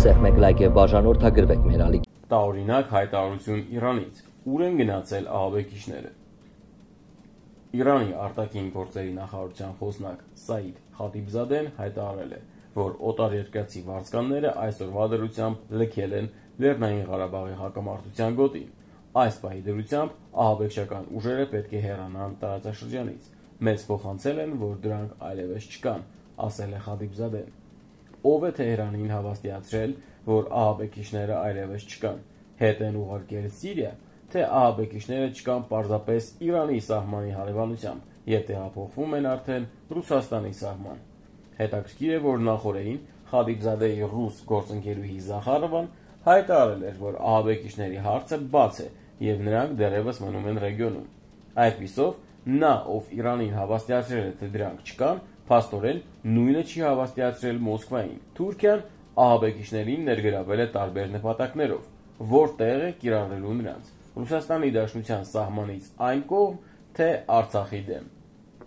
սեղմեք լայք եւ բաժանորդագրվեք մեր ալիք։ Տարօրինակ հայտարարություն Իրանից. ուր են գնացել ահաբեկիչները։ Իրանի արտաքին գործերի նախարարության խոսնակ Սաիդ Խաթիբզադեն հայտարարել է, որ օտարերկրացի վարձկանները այսօրվա դրությամբ լքել են Լեռնային Ղարաբաղի հակամարտության գոտին։ Այս պահի դրությամբ ահաբեկչական ուժերը պետք է հեռանան տարածաշրջանից։ Մեզ փոխանցել են, որ դրանք այլևս չկան, ասել է Խաթիբզադեն։ Ով է Թեհրանին հավաստիացրել, որ ահաբեկիչները այլևս չկան։ Հետ են ուղարկել Սիրիա, թե ահաբեկիչները չկան պարզապես Իրանի սահմանի հարևանությամբ եւ տեղափոխվում են արդեն Ռուսաստանի սահման։ Հետաքրքիր է, որ նախորդին Խաթիբզադեի ռուս գործընկերուհի Զախարովան հայտարարել էր, որ ահաբեկիչների հարցը բաց է եւ նրանք դեռևս մնում են ռեգիոնում։ Այդպիսով նա, ով Իրանին հավաստիացրել է, թե դրանք չկան, փաստորեն նույնը չի հավաստիացրել Մոսկվային։ Թուրքիան ահաբեկիչներին ներգրավել է տարբեր նպատակներով, որտեղ է կիրառելու նրանց Ռուսաստանի Դաշնության սահմանից այն կողմ, թե Արցախի դեմ։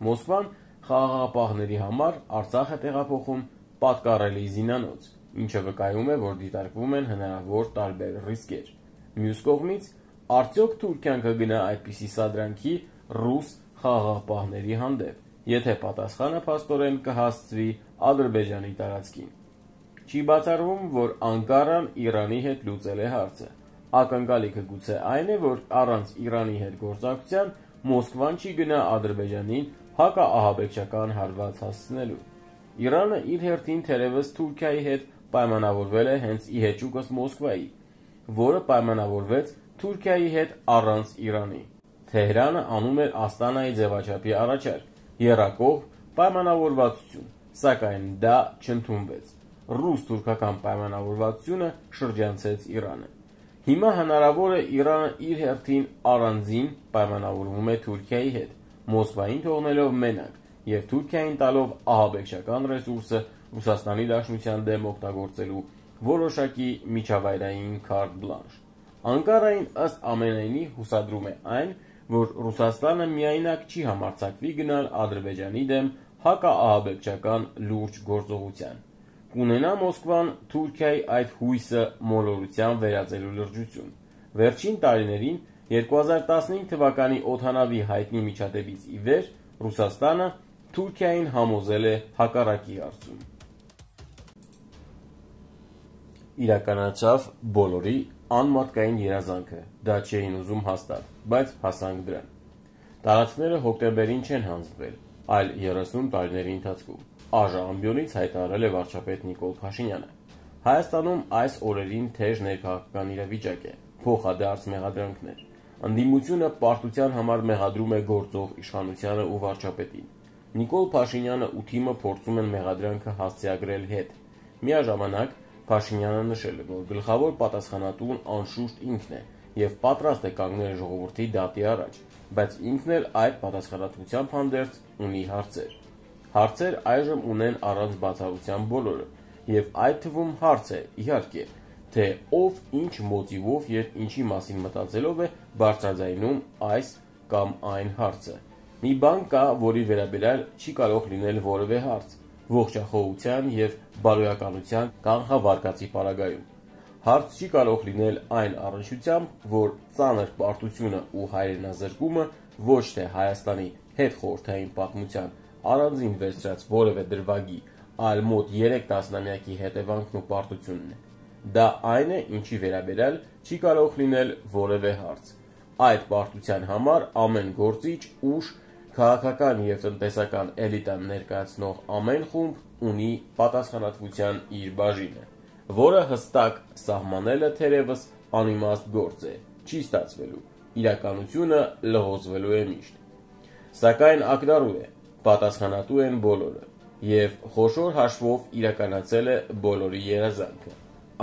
Մոսկվան խաղաղապահների համար Արցախ է տեղափոխում պատկառելի զինանոց, ինչը վկայում է, որ դիտարկվում են հնարավոր տարբեր ռիսկեր։ Մյուս կողմից, արդյոք Թուրքիան կգնա այդպիսի սադրանքի ռուս խաղաղապահների հանդեպ, եթե պատասխանը փաստորեն կհասցվի Ադրբեջանի տարածքին։ Չի բացառվում, որ Անկարան Իրանի հետ լուծել է հարցը։ Ակնկալիքը գուցե այն է, որ առանց Իրանի հետ գործակցության Մոսկվան չի գնա Ադրբեջանին հակաահաբեկչական հարված հասցնելու։ Իրանը իր հերթին թերևս Թուրքիայի հետ պայմանավորվել է հենց ի հեճուկս Մոսկվայի, որը պայմանավորվեց Թուրքիայի հետ առանց Իրանի։ Թեհրանը անում էր Աստանայի ձևաչափի առաջարկ, եռակողմ պայմանավորվածություն, սակայն դա չընդունվեց։ Ռուս-թուրքական պայմանավորվածությունը շրջանցեց Իրանը։ Հիմա հնարավոր է Իրանը իր հերթին առանձին պայմանավորվում է Թուրքիայի հետ, Մոսկվային թողնելով մենակ եւ Թուրքիային տալով ահաբեկչական ռեսուրսը Ռուսաստանի Դաշնության դեմ օգտագործելու որոշակի միջավայրային կարտ բլանշ։ Անկարային ըստ ամենայնի հուսադրում է այն, որ Ռուսաստանը միայնակ չի համարձակվի գնալ Ադրբեջանի դեմ հակաահաբեկչական լուրջ գործողության։ Կունենա Մոսկվան Թուրքիայի այդ հույսը մոլորությամբ վերածելու լրջություն։ Վերջին տարիներին 2015 թվականի օդանավի հայտնի միջադեպից ի վեր Ռուսաստանը Թուրքիային համոզել է հակառակի հարցում։ Իրականացավ բոլորի անմարդկային երազանքը, դա չէին ուզում հաստատ, բայց հասանք դրան։ Տարածքները հոկտեմբերին չեն հանձնվել, այլ 30 տարիների ընթացքում։ Ամբիոնից հայտարարել է վարչապետ Նիկոլ Փաշինյանը։ Հայաստանում այս օրերին թեժ ներքաղաքական իրավիճակ է, փոխադարձ մեղադրանքներ։ Ընդդիմությունը պարտության համար մեղադրում է գործող իշխանությանը ու վարչապետին։ Նիկոլ Փաշինյանը ու թիմը փորձում են մեղադրանքը հասցեագրել հետ։ Միաժամանակ Փաշինյանը նշել է, որ գլխավոր պատասխանատուն անշուշտ ինքն է եւ պատրաստ է կանգնել ժողովրդի դատի առաջ, բայց ինքն էլ այդ պատասխանատվությամբ հանդերձ ունի հարցեր։ Հարցեր այժմ ունեն առանց բացառության բոլորը, եւ այդ թվում հարց է, իհարկե, թե ով ինչ մոտիվով եւ ինչի մասին մտածելով է բարձրաձայնում այս կամ այն հարցը։ Մի բան կա, որի վերաբերյալ չի կարող լինել որևէ հարց՝ ողջախոհության եւ բարոյականության կանխավարկածի պարագայում։ Հարց չի կարող լինել այն առնչությամբ, որ ծանր պարտությունը ու հայրենազրկումը ոչ թե Հայաստանի հետխորհրդային պատմության առանձին վերցրած որևէ դրվագի, այլ մոտ 3 տասնամյակի հետևանքն ու պարտությունն է։ Դա այն է, ինչի վերաբերյալ չի կարող լինել որևէ հարց։ Այդ պարտության համար ամեն գործիչ, ուժ, քաղաքական եւ տնտեսական էլիտան ներկայացնող ամեն խումբ ունի պատասխանատվության իր բաժինը, որը հստակ սահմանելը թերևս անիմաստ գործ է, չի ստացվելու, իրականությունը լղոզվելու է միշտ։ Սակայն ակնառու է, պատասխանատու են բոլորը, եւ խոշոր հաշվով իրականացել է բոլորի երազանքը։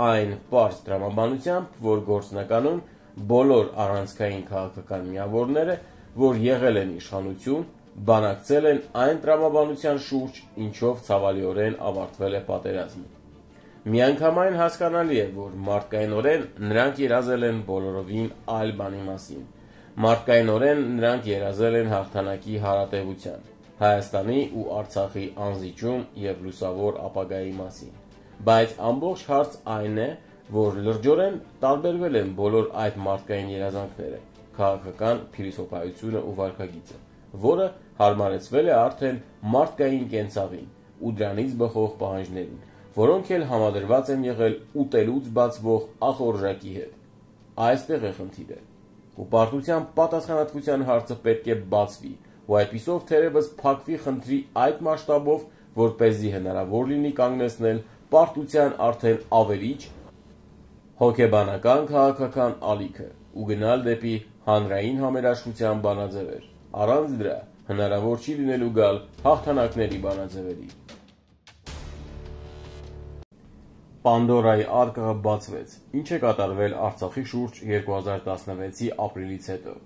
Այն պարզ տրամաբանությամբ, որ գործնականում բոլոր առանցքային քաղաքական միավորները, որ եղել են իշխանություն, բանակցել են այն տրամաբանության շուրջ, ինչով ցավալիորեն ավարտվել է պատերազմը։ Միանգամայն հասկանալի է, որ մարդկայնորեն նրանք երազել են բոլորովին այլ բանի մասին։ Մարդկայնորեն նրանք երազել են հաղթանակի հարատևության, Հայաստանի ու Արցախի անզիջում եւ լուսավոր ապագայի մասին։ Բայց ամբողջ հարց այն է, որ լրջորեն տարբերվել են բոլոր այդ մարդկային երազանքները, քաղաքական փիլիսոփայությունը ու վարքագիծը, որը հարմարեցվել է արդեն մարդկային կենցաղին ու դրանից բխող պահանջներին, որոնք էլ համադրված են եղել ուտելուց բացվող ախորժակի հետ։ Այստեղ է խնդիրը։ Ու պարտության պատասխանատվության հարցը պետք է բացվի, ու այդպիսով թերևս փակվի խնդրի այդ մասշտաբով, որպեսզի հնարավոր լինի կանգնեցնել պարտության արդեն ավերիչ հոգեբանական քաղաքական ալիքը ու գնալ դեպի հանրային համերաշխության բանաձևեր։ Առանց դրա հնարավոր չի լինելու գալ հաղթանակների բանաձևերի։ Պանդորայի արկղը բացվեց։ Ինչ է կատարվել Արցախի շուրջ 2016-ի ապրիլից հետո։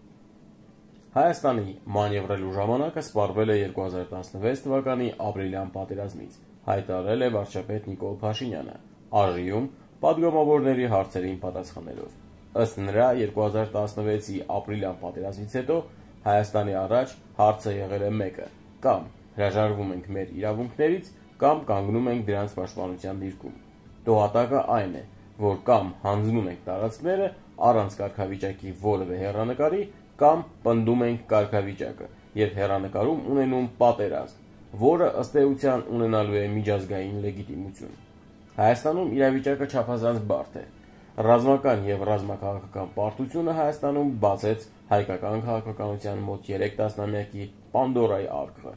Հայաստանի մանևրելու ժամանակը սպառվել է 2016 թվականի ապրիլյան պատերազմից, հայտարարել է վարչապետ Նիկոլ Փաշինյանը, ԱԺ-ում պատգամավորների հարցերին պատասխանելով։ Ըստ նրա 2016-ի ապրիլյան պատերազմից հետո Հայաստանի առաջ հարցը եղել է մեկը՝ կամ հրաժարվում ենք մեր իրավունքներից, կամ կանգնում ենք դրանց պաշտպանության դիրքում։ Տոհատակը այն է, որ կամ հանձնում ենք տարածքները առանց կարգավիճակի որևէ հեռանկարի, կամ պնդում ենք կարգավիճակը եւ հեռանկարում ունենում պատերազմ, որը ըստ էության ունենալու է միջազգային լեգիտիմություն։ Հայաստանում իրավիճակը չափազանց բարդ է։ Ռազմական եւ ռազմաքաղաքական պարտությունը Հայաստանում բացեց հայկական քաղաքականության մոտ 3 տասնամյակի Պանդորայի արկղը։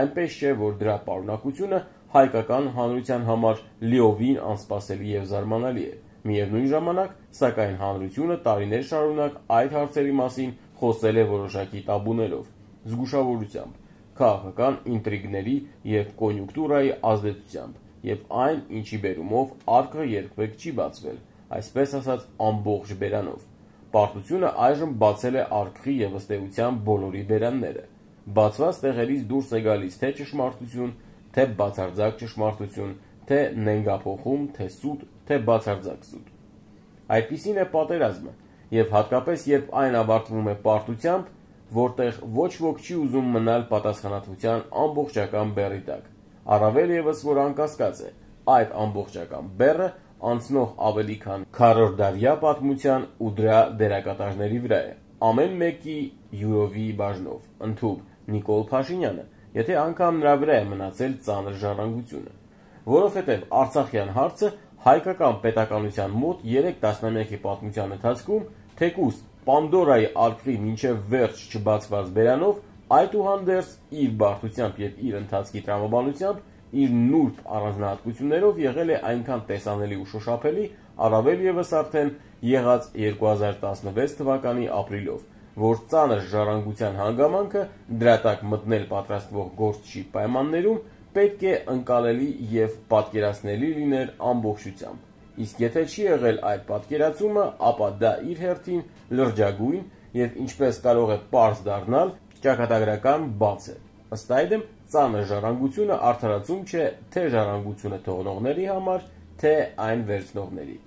Այնպես չէ, որ դրա պարունակությունը հայկական հանրության համար լիովին անսպասելի եւ զարմանալի է։ Միևնույն ժամանակ, սակայն հանրությունը տարիներ շարունակ այդ հարցերի մասին խոսել է որոշակի տաբուներով, զգուշավորությամբ, քաղաքական ինտրիգների եւ կոնյունկտուրայի ազդեցությամբ, եւ այն, ինչի բերումով արկղը երբեք չի բացվել, այսպես ասած ամբողջ բերանով։ Պարտությունը այժմ բացել է արկղի եւ ըստ էության բոլորի բերանները։ Բացված տեղերից դուրս է գալիս թե ճշմարտություն, թե բացարձակ ճշմարտություն, թե նենգափոխում, թե սուտ, թե բացարձակ սուտ։ Այդպիսին է պատերազմը, եւ հատկապես երբ այն ավարտվում է պարտությամբ, որտեղ ոչ ոք չի ուզում մնալ պատասխանատվության ամբողջական բեռի տակ։ Առավել եւս որ անկասկած է, այդ ամբողջական բեռը անցնող ավելի քան քառորդդարյա պատմության ու դրա դերակատարների վրա է։ Ամեն մեկի յուրովի բաժնով, ընդհուպ Նիկոլ Փաշինյանը, եթե անգամ նրա վրա է մնացել ծանր ժառանգությունը, որովհետև Արցախյան հարցը հայկական պետականության մոտ 3 տասնամյակի պատմության ընթացքում թեկուզ Պանդորայի արկղի մինչև վերջ չբացված բերանով, այդուհանդերձ իր բարդությամբ եւ իր ընթացքի տրամաբանությամբ, իր նուրբ առանձնահատկություններով եղել է այնքան տեսանելի ու շոշափելի, առավել եւս արդեն եղած 2016 թվականի ապրիլով, որ ծանր ժառանգության հանգամանքը դրա տակ մտնել պատրաստվող գործչի պայմաններում պետք է ընկալելի եւ պատկերացնելի լիներ ամբողջությամբ։ Իսկ եթե չի եղել այդ պատկերացումը, ապա դա իր հերթին լրջագույն եւ ինչպես կարող է պարզ դառնալ, ճակատագրական բաց է։ Ըստ այդմ, ծանր ժառանգությունը արդարացում չէ թե ժառանգությունը թողնողների համար, թե այն վերցնողների։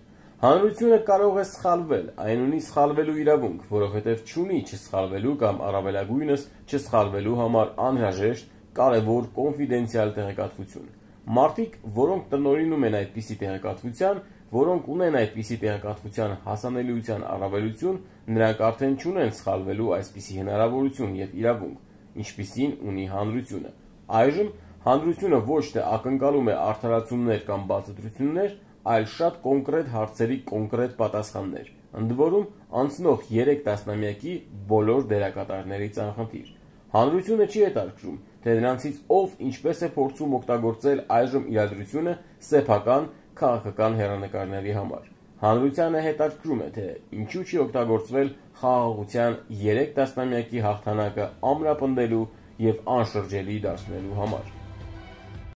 Հանրությունը կարող է սխալվել, այն ունի սխալվելու իրավունք, որովհետև չունի չսխալվելու կամ առավելագույնս չսխալվելու համար անհրաժեշտ կարևոր կոնֆիդենցիալ տեղեկատվություն։ Մարդիկ, որոնք տնօրինում են այդպիսի տեղեկատվության, որոնք ունեն այդպիսի տեղեկատվության հասանելիության առավելություն, նրանք արդեն չունեն սխալվելու այսպիսի հնարավորություն եւ իրավունք, ինչպիսին ունի հանրությունը։ Այժմ հանրությունը ոչ թե ակնկալում է արդարացումներ կամ բացատրություններ, այլ շատ կոնկրետ հարցերի կոնկրետ պատասխաններ, ընդ որում անցնող 3 տասնամյակի բոլոր դերակատարների ծանխնդիր։ Հանրությունը չի հետաքրքրում, թե նրանցից ով ինչպես է փորձում օգտագործել այժմ իրադրությունը սեփական քաղաքական հեռանկարների համար։ Հանրությանը հետաքրքրում է, թե ինչու չի օգտագործվել խաղաղության 3 տասնամյակի հաղթանակը ամրապնդելու եւ անշրջելի դարձնելու համար։